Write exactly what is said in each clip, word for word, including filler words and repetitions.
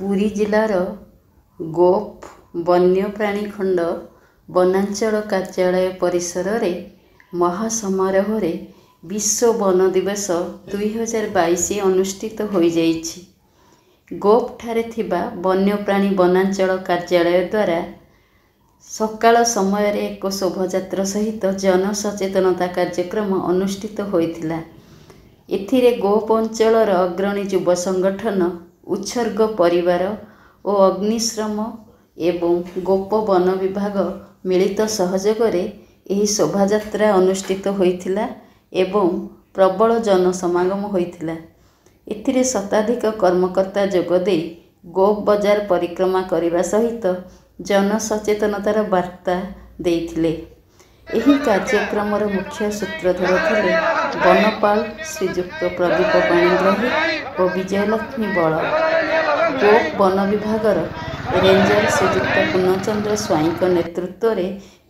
ପୁରୀ ଜିଲ୍ଲାର ଗୋପ ବନ୍ୟପ୍ରାଣୀ ଖଣ୍ଡ ବନାଞ୍ଚଳ କାର୍ଯ୍ୟାଳୟ ପରିସରରେ ମହାସମାରୋହରେ ବିଶ୍ୱ ବନ ଦିବସ ଦୁଇହଜାର ବାଇଶ ଅନୁଷ୍ଠିତ ହୋଇଯାଇଛି। ଗୋପଠାରେ ଥିବା ବନ୍ୟପ୍ରାଣୀ ବନାଞ୍ଚଳ କାର୍ଯ୍ୟାଳୟ ଦ୍ୱାରା ସକାଳ ସମୟରେ ଏକ ଶୋଭାଯାତ୍ରା ସହିତ ଜନସଚେତନତା କାର୍ଯ୍ୟକ୍ରମ ଅନୁଷ୍ଠିତ ହୋଇଥିଲା। ଏଥିରେ ଗୋପ ଅଞ୍ଚଳର ଅଗ୍ରଣୀ ଯୁବ ସଂଗଠନ ଉତ୍ସର୍ଗ ପରିବାର ଓ ଅଗ୍ନିଶ୍ରମ ଏବଂ ଗୋପ ବନ ବିଭାଗ ମିଳିତ ସହଯୋଗରେ ଏହି ଶୋଭାଯାତ୍ରା ଅନୁଷ୍ଠିତ ହୋଇଥିଲା ଏବଂ ପ୍ରବଳ ଜନସମାଗମ ହୋଇଥିଲା। ଏଥିରେ ଶତାଧିକ କର୍ମକର୍ତ୍ତା ଯୋଗଦେଇ ଗୋପ ବଜାର ପରିକ୍ରମା କରିବା ସହିତ ଜନସଚେତନତାର ବାର୍ତ୍ତା ଦେଇଥିଲେ। ଏହି କାର୍ଯ୍ୟକ୍ରମର ମୁଖ୍ୟ ସୂତ୍ରଧର ଥିଲେ ବନପାଳ ଶ୍ରୀଯୁକ୍ତ ପ୍ରଦୀପ ପାଣିଗ୍ରାହୀ ଓ ବିଜୟଲକ୍ଷ୍ମୀ ବଳ। ଗୋପ ବନ ବିଭାଗର ରେଞ୍ଜର ଶ୍ରୀଯୁକ୍ତ ପୂର୍ଣ୍ଣଚନ୍ଦ୍ର ସ୍ୱାଇଁଙ୍କ ନେତୃତ୍ୱରେ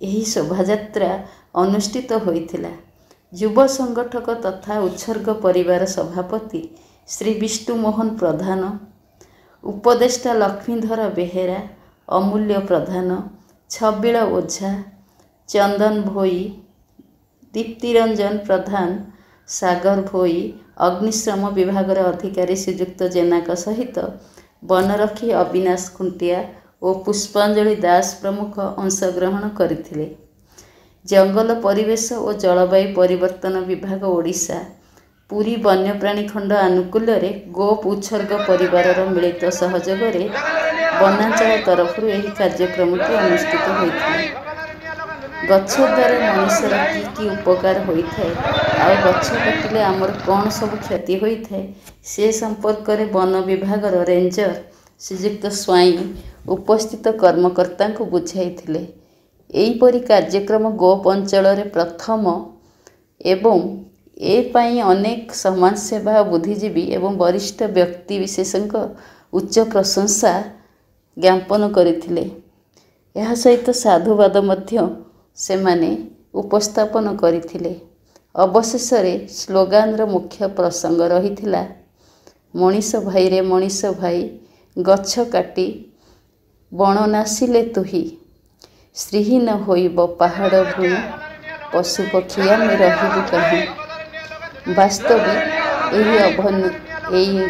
ଏହି ଶୋଭାଯାତ୍ରା ଅନୁଷ୍ଠିତ ହୋଇଥିଲା। ଯୁବ ସଂଗଠକ ତଥା ଉତ୍ସର୍ଗ ପରିବାର ସଭାପତି ଶ୍ରୀ ବିଷ୍ଣୁ ମୋହନ ପ୍ରଧାନ, ଉପଦେଷ୍ଟା ଲକ୍ଷ୍ମୀଧର ବେହେରା, ଅମୂଲ୍ୟ ପ୍ରଧାନ, ଛବିଳ ଓଝା, ଚନ୍ଦନ ଭୋଇ, ଦୀପ୍ତିରଞ୍ଜନ ପ୍ରଧାନ, ସାଗର ଭୋଇ, ଅଗ୍ନିଶ୍ରମ ବିଭାଗର ଅଧିକାରୀ ଶ୍ରୀଯୁକ୍ତ ଜେନାଙ୍କ ସହିତ ବନରକ୍ଷୀ ଅବିନାଶ ଖୁଣ୍ଟିଆ ଓ ପୁଷ୍ପାଞ୍ଜଳି ଦାସ ପ୍ରମୁଖ ଅଂଶଗ୍ରହଣ କରିଥିଲେ। ଜଙ୍ଗଲ ପରିବେଶ ଓ ଜଳବାୟୁ ପରିବର୍ତ୍ତନ ବିଭାଗ ଓଡ଼ିଶା, ପୁରୀ ବନ୍ୟପ୍ରାଣୀ ଖଣ୍ଡ ଆନୁକୂଲ୍ୟରେ ଗୋପ ଉତ୍ସର୍ଗ ପରିବାରର ମିଳିତ ସହଯୋଗରେ ବନାଞ୍ଚଳ ତରଫରୁ ଏହି କାର୍ଯ୍ୟକ୍ରମଟି ଅନୁଷ୍ଠିତ ହୋଇଥିଲା। ଗଛ ଦ୍ୱାରା ମଣିଷର କି କି ଉପକାର ହୋଇଥାଏ ଆଉ ଗଛ କାଟିଲେ ଆମର କ'ଣ ସବୁ କ୍ଷତି ହୋଇଥାଏ, ସେ ସମ୍ପର୍କରେ ବନ ବିଭାଗର ରେଞ୍ଜର ଶ୍ରୀଯୁକ୍ତ ସ୍ୱାଇଁ ଉପସ୍ଥିତ କର୍ମକର୍ତ୍ତାଙ୍କୁ ବୁଝାଇଥିଲେ। ଏହିପରି କାର୍ଯ୍ୟକ୍ରମ ଗୋପ ଅଞ୍ଚଳରେ ପ୍ରଥମ ଏବଂ ଏ ପାଇଁ ଅନେକ ସମାଜସେବା, ବୁଦ୍ଧିଜୀବୀ ଏବଂ ବରିଷ୍ଠ ବ୍ୟକ୍ତିବିଶେଷଙ୍କ ଉଚ୍ଚ ପ୍ରଶଂସା ଜ୍ଞାପନ କରିଥିଲେ। ଏହା ସହିତ ସାଧୁବାଦ ମଧ୍ୟ ସେମାନେ ଉପସ୍ଥାପନ କରିଥିଲେ। ଅବଶେଷରେ ସ୍ଲୋଗାନର ମୁଖ୍ୟ ପ୍ରସଙ୍ଗ ରହିଥିଲା, ମଣିଷ ଭାଇରେ ମଣିଷ ଭାଇ, ଗଛ କାଟି ବଣ ନାଶିଲେ ତୁହି, ଶ୍ରୀହୀନ ହୋଇବ ପାହାଡ଼ ଭୂଇଁ, ପଶୁପକ୍ଷୀ ଆମେ ରହିବୁ କାହିଁ। ବାସ୍ତବିକ ଏହି ଏହି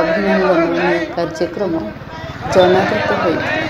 ଅଭିନନ୍ଦନୀୟ କାର୍ଯ୍ୟକ୍ରମ ଜନାଦୃତ ହୋଇଥିଲା।